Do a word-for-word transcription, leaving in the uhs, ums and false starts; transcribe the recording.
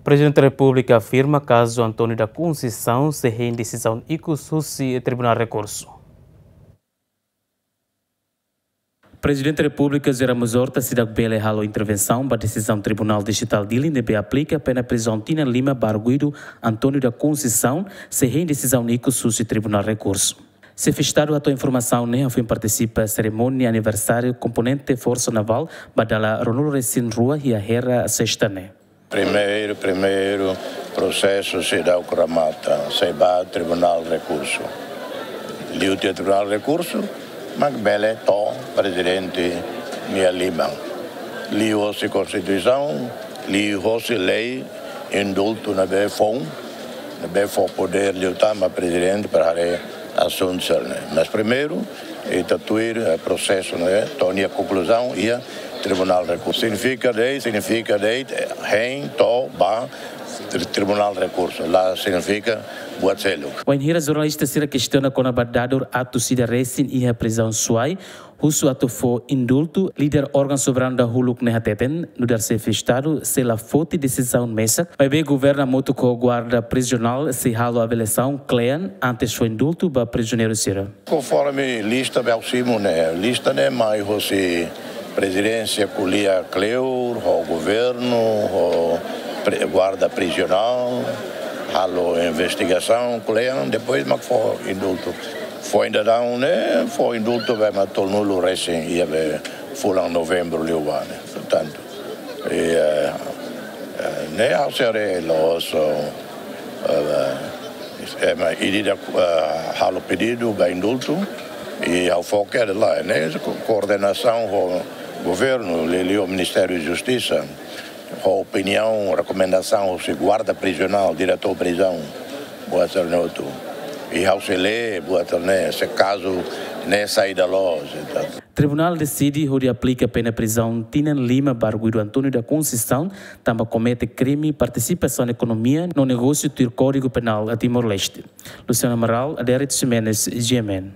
Prezidente Repúblika afirma kazu António da Conceição sei hein desizaun ikus husi Tribunál Rekursu. Prezidente Repúblika José Ramos Horta seidauk bele halo intervensaun ba desizaun Tribunál Distritál Dili ne'ebé aplika pena prizaun tinan lima ba arguidu António da Conceição sei hein desizaun ikus husi Tribunál Rekursu. Xefe Estadu hato'o informasaun ne'e hafoin partisipa serimónia aniversáriu komponente Forsa Navál ba dala ruanulu-resin-rua iha Hera, Sesta ne'e. Primeiru, primeiru, prosesu seidauk remata, sei ba Tribunál Rekursu. Liu tiha Tribunál Rekursu, mak bele to'o Prezidente nia liman. Liuhosi Konstituisaun, liuhosi lei, indultu ne'ebé foun, ne'ebé fó podér liután ba Prezidente para haree asuntu sira-ne'e. Mas primeiru, ita tuir, eh, prosesu ne'e to'o nia konkluzaun iha Tribunál Rekursu. Signifika de'it, signifika de'it, eh, hein to'o ba tri-, Tribunál Rekursu. La signifika buat seluk. Wainhira jornalista sira kestiona kona-ba dadur atus ida resin iha prizaun Suai, husu atu fó indultu, líder órgaun soberanu dahuluk ne'e hateten, nu'udar Xefe Estadu sei la foti desizaun mesak, maibé governu hamutuk ho guarda prizionál sei halo avaliasaun kle'an antes fó indultu ba prizioneiru sira. Konforme lista ne'ebé ha'u simu ne'e, lista ne'e mai hosi Prezidénsia ko'alia kleur ho governu, ho pre-, guarda prizionál, halo investigasaun kle'an, depois mak fó indultu. Foin daudaun ne'e, fó indultu ba ema tolunulu resin iha be fulan Novembru liubá ne'e. Portantu, i, eh, eh, ne'e ha'u sei haree loos, eh, eh, ema ida-idak, eh, halo pedidu ba indultu, i ha'u foka de'it ne'e, ko-, koordenasaun ho governu, liuliu Ministériu Justisa, ho opiniaun, rekomendasaun husi guarda prizionál, diretór prizaun, buat sira-ne'e hotu. I ha'u sei lee buat sira-ne'e, se kazu ne'e saida loos, entaun. Tribunál deside hodi aplika pena prizaun tinan lima ba arguidu António da Conceição, tanba komete krime partisipasaun ekonomia no negósiu tuir Kódigu Penál Timor-Leste. Luciano Amaral, Adérito Ximenes, G M N.